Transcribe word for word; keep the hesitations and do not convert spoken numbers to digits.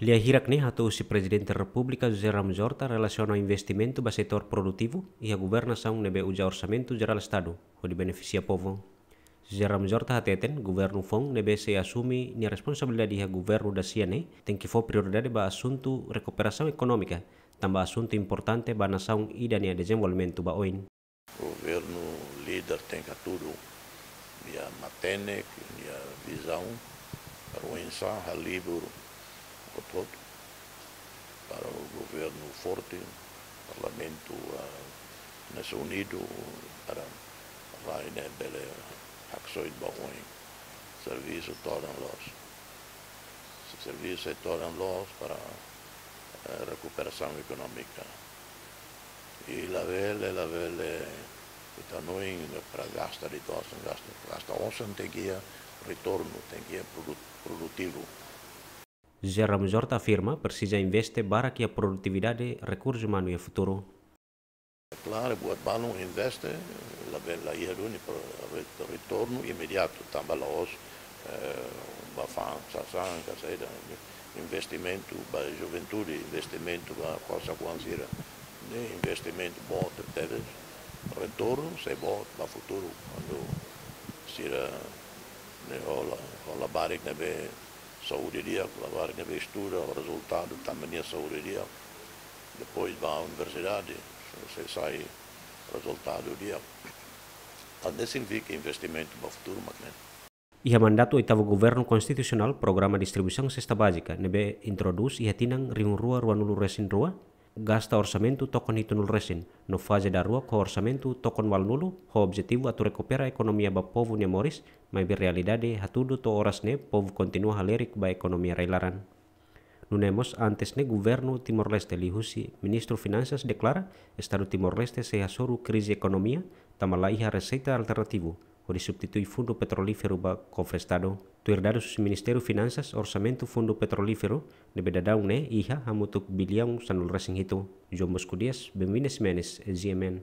Lia hirak ne'e hato'o husi Prezidente Repúblika José Ramos Horta relasiona ho investimentu ba setór produtivu iha governasaun ne'ebé uza Orsamentu Jerál Estadu hodi benefisia povu. José Ramos Horta hateten, governu foun ne'ebé sei asume nia responsabilidade iha governu dasia ne'e tenke fó prioridade ba asuntu rekuperasaun ekonómika, tanba asuntu importante ba nasaun ida nia dezenvolvimentu ba oin. Governu líder tenke hatudu nia matenek, nia vizaun, para oinsá halibur hotu-hotu, para governu forte, parlamentu, ah, Nasaun Unidu, para rai ne'e bele haksoit ba oin. Servisu todan loos. Servisu sei todan loos para, eh, rekuperasaun ekonómika. I labele, labele, ita hanoin para gasta de'it osan, gasta, gasta osan tenke iha retornu, tenke iha produ-, produtivu. José Ramos Horta afirma presiza investe barak iha produtividade, rekursu umanu iha futuru. Klaru, buat balun investe, labele, la iha duni pro-, re-, retornu imediatu, tanba la'ós, eh, ba fa'an sasán, ka saida, investimentu ba juventude, investimentu ba kosas oan sira, ne'e investimentu boot tebes, retornu sei boot ba futuru, kuandu sira ne'e hola, hola labarik ne'ebé saúde di'ak, labarik ne'ebé estuda, rezultadu tanba nia saúde di'ak. Depois ba universidade, sei sai rezultadu di'ak. Entaun ne'e signifika investimentu ba futuru mak ne'e. Iha mandatu oitavu Governu Konstitusionál, programa distribuisaun sesta bázika ne'ebé introdús iha tinan rihun rua ruanulu resin rua, gasta orsamentu tokon hitunulu resin, no faze daruak ho orsamentu tokon ualunulu, ho objetivu atu rekupera ekonomia ba povu nia moris, maibé realidade hatudu to'o oras ne'e povu kontinua halerik ba ekonomia rai-laran. Nune'e mós antes ne'e governu Timor-Leste liuhusi Ministru Finansas deklara, Estadu Timor-Leste sei hasoru krize ekonomia, tanba la iha reseita alternativu hodi substitui fundu petrolíferu ba kofre Estadu. Tuir dadus husi Ministériu Finansas, orsamentu fundu petrolíferu ne'ebé daudaun ne'e iha hamutuk biliaun sanulu resin hitu. João Bosco Dias, Benvina Ximenes, G M N.